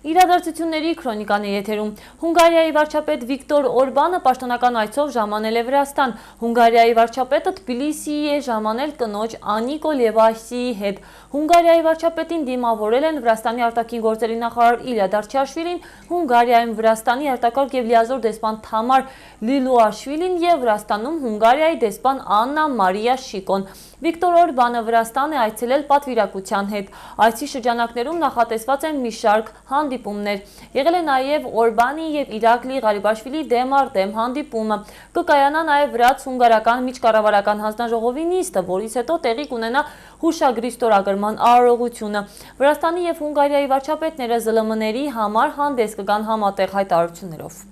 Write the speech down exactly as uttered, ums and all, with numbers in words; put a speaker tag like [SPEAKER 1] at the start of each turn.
[SPEAKER 1] Իրադարձությունների քրոնիկան է եթերում։ Հունգարիայի վարչապետ Վիկտոր Օրբանը պաշտոնական այցով ժամանել է Վրաստան։ Հունգարիայի վարչապետը Թբիլիսիի է ժամանել կնոջ Անիկո Լևասիի հետ։ Հունգարիայի վարչապետին դիմավորել են Վրաստանի արտաքին գործերի նախարար Իլյա Դարչաշվիլին, Հունգարիայում Վրաստանի արտակարգ և լիազոր դեսպան Թամար Լիլուաշվիլին և Վրաստանում Հունգարիայի դեսպան Աննա Մարիա Շիկոն։ Վիկտոր Օրբանը Վրաստան է այցելել պատվիրակության հետ։ Այցի շրջանակներում նախատեսված են մի շարք հանդիպումներ։ Եղել է նաև Օրբանի և Իրակլի Ղարիբաշվիլի դեմ առ դեմ հանդիպումը։ Կկայանա նաև վրաց-հունգարական միջկառավարական հանձնաժողովի նիստը, որից հետո տեղի կունենա հուշագրի ստորագրման արարողությունը։ Վրաստանի և Հունգարիայի վարչապետները ԶԼՄ-ների համար հանդես կգան համատեղ հայտարարություններով։